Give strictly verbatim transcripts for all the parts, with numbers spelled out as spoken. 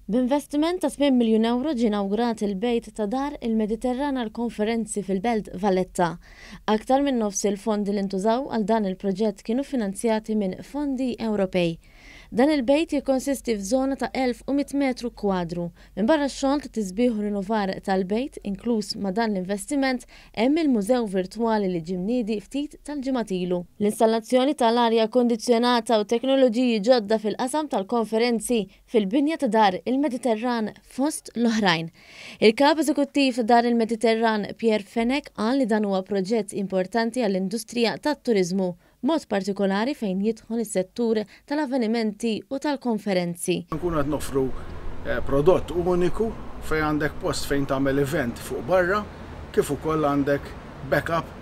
B'investiment ta' tmien miljun ewro ġie inawgurat il-bejt ta' Dar il-Mediterran għall-Konferenzi fil-Belt Valletta. Aktar minn nofs il-fondi li ntużaw għal dan il-proġett kienu finanzjati minn fondi Ewropej. Dan il-bejt jikkonsisti f'żona ta' elf u mitt metru kwadru. Minbarra x-xogħol ta' tisbiħ u rinnovar tal-bejt, inkluż ma' dan l-investiment, hemm il-mużew virtwali li ġie mniedi ftit tal-ġimgħat ilu. L-installazzjoni tal-arja kondizzjonata u teknoloġiji ġodda fil-qasam tal-konferenzi fil-binja ta' Dar il-Mediterran fost l-oħrajn. Il-kap eżekuttiv ta' Dar il-Mediterran Pierre Fenech qal li dan huwa proġett importanti għall-industrija tat-turiżmu, mod partikolari fejn jidħol is-settur tal-avvenimenti u tal-konferenzi. Nkunu qed noffru eh, prodott uniku fejn għandek post fejn tagħmel event fuq barra, kif ukoll għandek backup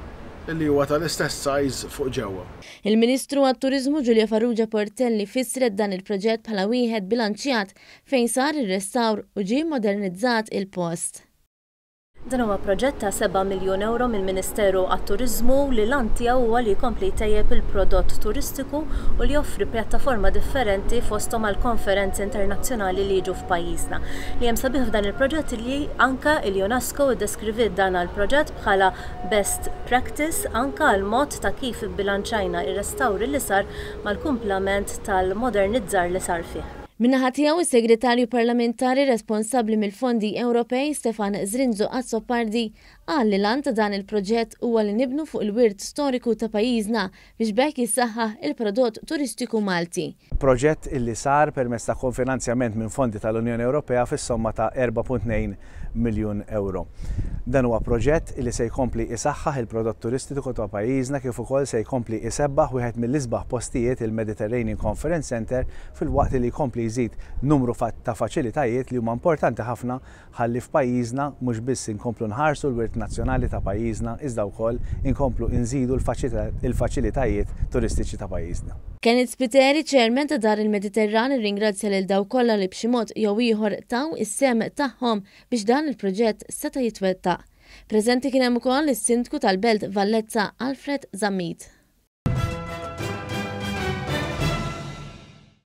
li huwa tal-istess size fuq ġewwa. Il-Ministru għat-Turiżmu Julia Farrugia Portelli fissret dan il-proġett bħala wieħed bilanċjat fejn sar ir-restawr u ġie modernizzat il-post. Dan huwa proġett ta' seba' miljun euro mill-Ministeru għat-Turiżmu li l-għan tiegħu huwa li jkompli jtejjeb il-prodott turistiku u li joffri pjattaforma differenti fosthom għal konferenzi internazzjonali li jiġu f'pajjiżna. Li hemm sabiħ f'dan il-proġett li anka il-UNESCO iddeskriviet dan il-proġett bħala best practice anka għal mod ta' kif bilanċajna ir-restawri li sar mal-kumplament tal-modernizzar li sar fih. Min-naħa tiegħu, is-Segretarju Parlamentari responsabbli mill-Fondi Ewropej Stefan Zrinzo Azzopardi qal li l-għan ta' dan il-proġett huwa li nibnu fuq il-wirt storiku ta' pajjiżna biex b'hekk jissaħħaħ il-prodott turistiku Malti. Proġett illi sar permezz ta' kofinanzjament minn fondi tal-Unjoni Ewropea fis-somma ta' erba' punt tnejn miljun euro. Dan huwa proġett illi se jkompli isaħħaħ il-prodott turistiku ta' pajjiżna kif ukoll se jkompli isebbaħ wieħed mill-isbaħ postijiet, il-Mediterranean Conference Center, filwaqt li jkompli jżid numru fa-, ta' faċilitajiet li huma importanti ħafna ħalli f'pajjiżna mhux biss inkomplu nħarsu l-wirt nazzjonali ta' pajjiżna iżda wkoll inkomplu nżidu l-faċilita-, il-faċilitajiet turistiċi ta' pajjiżna. Kenneth Spiteri, chairman ta' Dar il-Mediterran, irringrazzja lil dawk kollha li b'xi mod jew ieħor taw is-sehem tagħhom biex dan il-proġett seta' jitwettaq. Preżenti kien hemm ukoll is-Sindku tal-Belt Valletta Alfred Zammit.